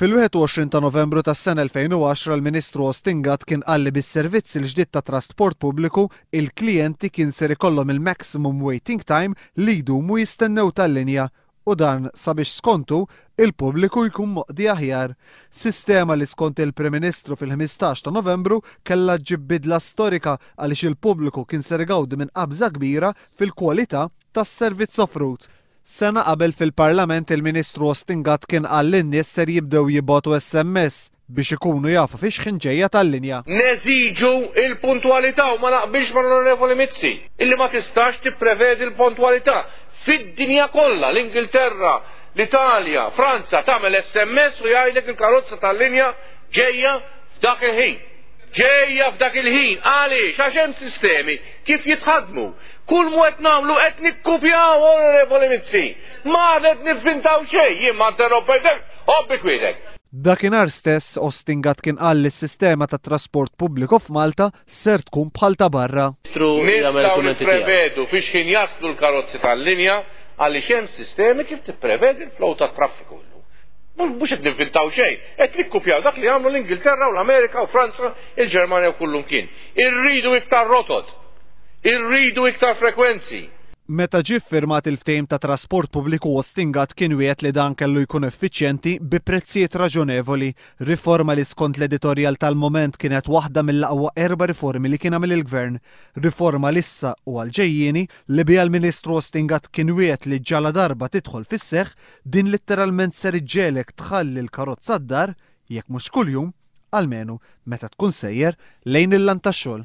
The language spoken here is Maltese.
Fil-21 ta' Novembru tas-sena 2010 l-Ministru Austin Gatt kien qal li bis-servizz il-ġdid ta' trasport pubbliku il-klijenti kien ser ikollhom il-maximum waiting time li jdumu jistennew tal-linja u dan sabiex skontu il-pubbliku jkun moqdi aħjar. Sistema li skont il-Prim Ministru fil-15 ta' Novembru kellha ġġib bidla storika għaliex il-pubbliku kien ser igawdi minn qabża kbira fil-kwalità tas-servizz offrut. Sena qabel fil-Parlament il-Ministru Austin Gatt kien qal li n-nies ser jibdew jibagħtu SMS biex ikunu jafu fiex ħin ġejja tal-linja. Neżiġu l-puntwalità u ma naqbilx mal-Onorevoli Mizzi illi ma tistax tipprevedi l-pontwalità. Fid-dinja kollha, l-Ingilterra, l-Italja, Franza tagħmel SMS u jgħidlek il-karozza tal-linja ġejja f'dak il-ħin. Ġejja f'dak il-ħin. Għaliex? Għax hemm sistemi kif jitħaddmu. Kull mu qed nagħmlu qed nikkupjaw, Onorevoli Mizzi. Ma qed nivvintaw xejn, jien ma interrompejtek, għodd bi kwiedek. Dakinhar stess, Austin Gatt kien qal li s-sistema tat-trasport pubbliku f'Malta ser tkun bħal ta' barra. Nistgħu nipprevedu fiex ħin jaslu l-karozzi tal-linja għaliex hemm sistemi kif tipprevedi l-flow tat-traffiku illum. Mhux qed nivvintaw xejn, qed nikkupjaw dak li għamlu l-Ingilterra u l-Amerika u Franza, il-Ġermanja u kullumkien. Irridu iktar rotot, irridu iktar frekwenzi. Meta ġie ffirmat il-ftehim ta' trasport pubbliku Austin Gatt kien wiegħed li dan kellu jkun effiċjenti bi prezzijiet raġonevoli, riforma li skont l-editorjal tal-Mument kienet waħda mill-aqwa erba' riformi li kien għamel il-Gvern. Riforma li issa u għall-ġejjieni li biha l-Ministru Austin Gatt kien wiegħed li ġaladarba tidħol fis-seħħ, din litteralment ser iġġegħlek tħalli l-karozza d-dar, jekk mhux kuljum, almenu meta tkun sejjer lejn il-lant tax-xogħol.